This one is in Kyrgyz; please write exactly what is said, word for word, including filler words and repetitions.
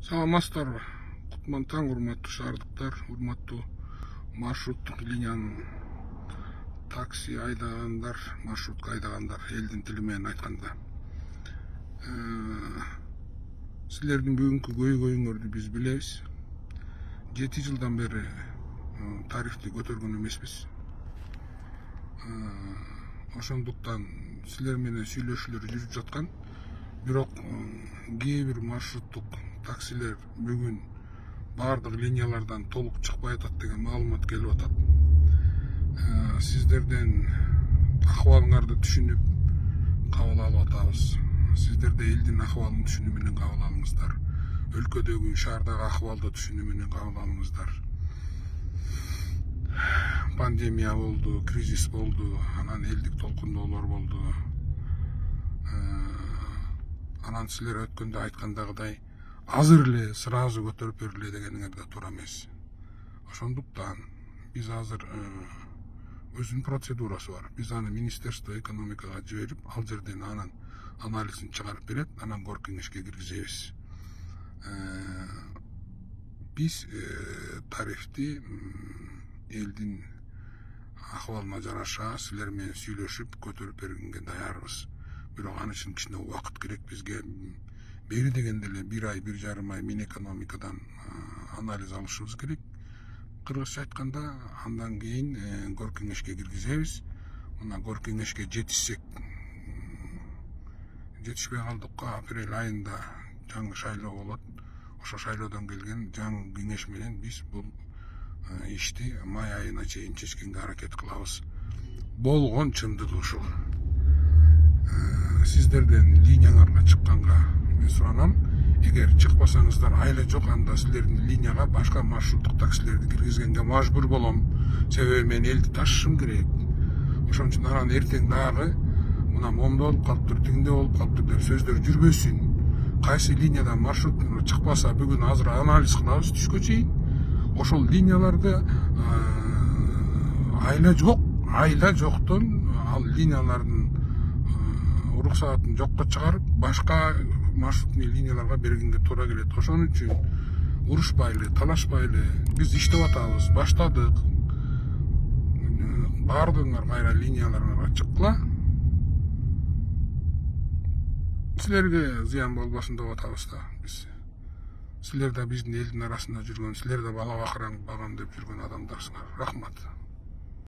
Саламатсыздарбы? Кутман таң, урматтуу шаардыктар, урматтуу маршруттук линиянын такси айдагандар, маршрутка айдагандар, элдин тили менен айтканда. Силердин бүгүнкү көйгөйүңөрдү биз билебиз. жети жылдан бери тарифти көтөргөн эмеспиз. Ошондуктан силер менен сүйлөшүүлөр жүрүп жаткан. Бирок кээ бир маршруттук таксилер бүгүн бардык линиялардан толук чыкпай атат деген маалымат келип атат. Сиздерден акыбалыңарды түшүнүп кабыл алып атабыз. Сиздер да элдин акыбалын түшүнүү менен кабыл алыңыздар. Өлкөдөгү, шаардагы акыбалды түшүнүү менен кабыл алыңыздар. Пандемия болду, кризис болду, анан элдик толкундоолор болду. Анан силер өткөндө айткандагыдай азыр эле сразу көтөрүп бергиле дегениңер да туура эмес. Ошондуктан биз азыр өзүнүн процедурасы бар. Биз аны Министерство экономикага жиберип, ал жерден анын анализин чыгарып берет, анан кор кеңешке киргизебиз. Биз тарифти элдин акыбалына жараша силер менен сүйлөшүп көтөрүп бергенге даярбыз. Бирок аны үчүн кичине убакыт керек бизге. Бери дегенде эле бир ай, бир жарым ай Минэкономикадан анализ алышыбыз керек. Кыргызча айтканда, андан кийин кор кеңешке киргизебиз. Мына кор кеңешке жетишсек, жетишпей калдыкка апрель айында жаңы шайлоо болот. Ошо шайлоодон келген жаңы кеңеш менен биз бул ишти май айына чейин чечкенге аракет кылабыз. Болгон чындыгы ушул. Сиздерден линияңарга чыкканга мен суранам. Эгер чыкпасаңыздар, айла жок, анда силердин линияга башка маршруттук таксилерди киргизгенге мажбур болом. Себеби мен элди ташышым керек. Ошон үчүн анан эртең дагы мына момдо болуп калыптыр, тигинде болуп калыптыр деп сөздөр жүрбөсүн. Кайсы линиядан маршрут чыкпаса, бүгүн азыр анализ кылабыз түшкө чейин. Ошол линияларды айла жок, айла жоктон ал линиялардын уруксаатын жокко чыгарып, башка маршрутный линияларга бергенге туура келет. Ошон үчүн урушпайлы, талашпайлы, биз иштеп атабыз, баштадык. Бардыгыңар кайра линияларга чыккыла. Силерге зыян болбосун деп атабыз да биз. Силер да биздин элдин арасында жүргөн, силер да бала бакырам багам деп жүргөн адамдарсыңар. Рахмат.